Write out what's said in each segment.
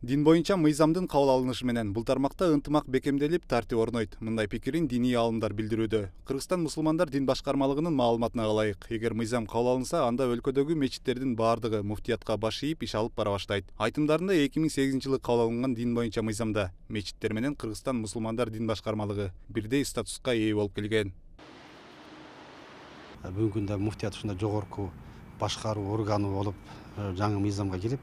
Дин боюнча мыйзамдын кабыл алынышы менен бул тармакта ынтымак бекемделип, тартип орнойт. Мындай пикирин диний аалымдар билдирүүдө. Кыргызстан мусулмандар дин башкармалыгынын маалыматына ылайык, эгер мыйзам кабыл алынса, анда өлкөдөгү мечиттердин баардыгы муфтиятка баш ийип иш алып бара баштайт. Айтымдарында 2008-жылы кабыл алынган дин боюнча мыйзамда мечиттер менен Кыргызстан мусулмандар дин башкармалыгы бирдей статуска ээ болуп келген. Бүгүнкү күндө муфтият ушундай жогорку башкаруу органы болуп жаңы мыйзамга кирип,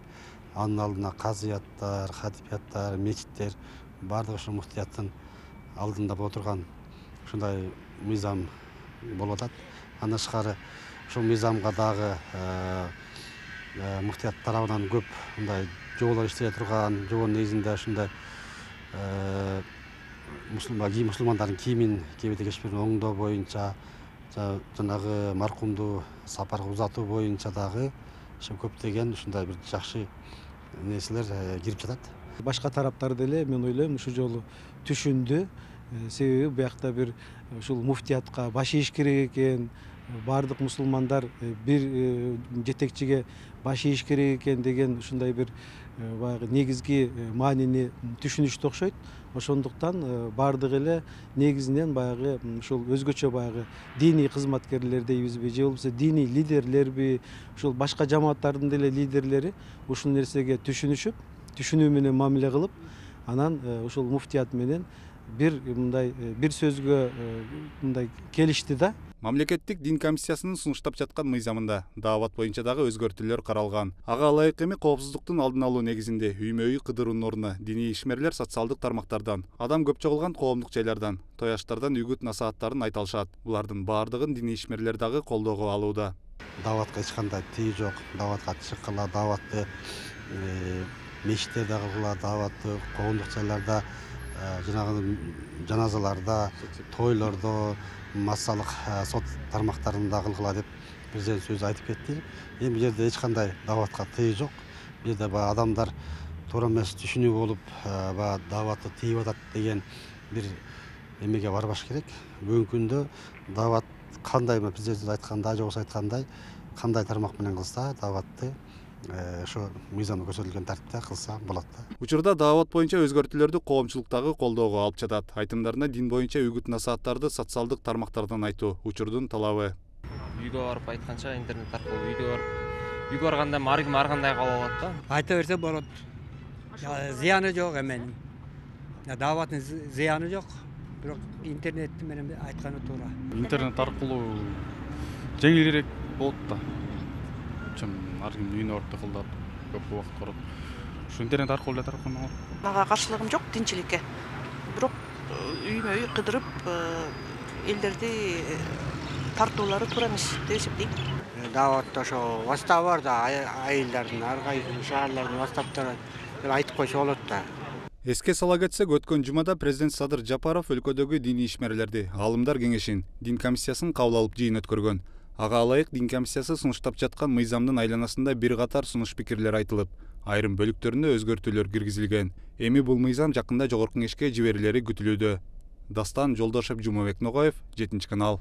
анын алдына казыяттар, хатипияттар, мечиттер баардыгы ушул муфтияттын алдында боло турган ушундай мыйзам болуп атат. Андан тышкары ушул мыйзамга дагы муфтият тарабынан көп мындай жоболор иштеле турган, жобонун негизинде ушундай мусулмандардын кийимин кийбете кечпирин оңдоо боюнча, жанагы маркумду сапарга узатуу боюнча дагы көптөгөн ушундай бир жакшы нерселер кирип жатат. Башка тараптар деле мен ойлойм ушул жолу түшүндү. Себеби биякта бир ушул муфтиятка баш ийиш керек экен, баардык мусулмандар бир жетекчиге баш ийиш керек экен деген ушундай бир баягы негизги маанини түшүнүштү окшойт. Ошондуктан баардыгы эле негизинен баягы ушул өзгөчө баягы диний кызматкерлер дейбизби, же болбосо диний лидерлерби, ушул башка жамааттардын деле лидерлери ушул нерсеге түшүнүү менен мамиле кылып, анан ушул муфтият менен бир сөзгө мындай келишти да. Мамлекеттик дин комиссиясынын сунуштап жаткан мыйзамында даават боюнча дагы өзгөртүүлөр каралган. Ага ылайык эми коопсуздуктун алдын алуу негизинде үймө-үй кыдыруунун ордуна диний ишмерлер социалдык тармактардан, адам көп чогулган коомдук жайлардан, тояштардан үгүт насааттарын айта алышат. Булардын баардыгын диний ишмерлер дагы колдоого алууда. Дааватка эч кандай тыйы жок. Дааватка чыккыла, дааватты мечиттерде кылгыла, дааватты коомдук жайларда, жанагы жаназаларда, тойлордо, массалык сот тармактарында кылгыла деп президент сөз айтып кетти. Эми бул жерде эч кандай дааватка тыйы жок. Бул жерде баягы адамдар туура эмес түшүнүү болуп, баягы дааватты тыйып атат деген бир эмеге барбаш керек. Бүгүнкү күндө даават кандай президент айткандай, же болбосо айткандай, кандай тармак менен кылса дааватты ошо мыйзамда көрсөтүлгөн тартипте кылса болот да. Учурда даават боюнча өзгөртүүлөрдү коомчулуктагы колдоого алып жатат. Айтымдарында дин боюнча үгүт насааттарды социалдык тармактардан айтуу учурдун талабы. Үйгө барып айтканча интернет аркылуу үйгө барганда ар ким ар кандай кабыл алат да. Айта берсе болот. Зыяны жок эменин. Дааваттын зыяны жок. Бирок интернет менен айтканы туура. Интернет аркылуу жеңилирээк болот да. Ар ким үйүнө барып кылдап көп убакыт көрөт. Ушу интернет аркылуу эле таркалган болот. Мага каршылыгым жок динчиликке. Бирок үймө-үй кыдырып элдерди тартуулары туура эмес деп эсептейм. Дааватта ошо вастабы бар да, айылдардын ар кайсы шаарлардын вастаптары деп айтып койсо болот да. Эске сала кетсек, өткөн жумада президент Садыр Жапаров өлкөдөгү диний ишмерлерди Аалымдар кеңешин, дин комиссиясын кабыл алып жыйын өткөргөн. Ага ылайык дин комиссиясы сунуштап жаткан мыйзамдын айланасында бир катар сунуш пикирлер айтылып, айрым бөлүктөрүнө өзгөртүүлөр киргизилген. Эми бул мыйзам жакында жогорку кеңешке жиберилери күтүлүүдө. Дастан Жолдошев, Жумабек Ногаев, 7 канал.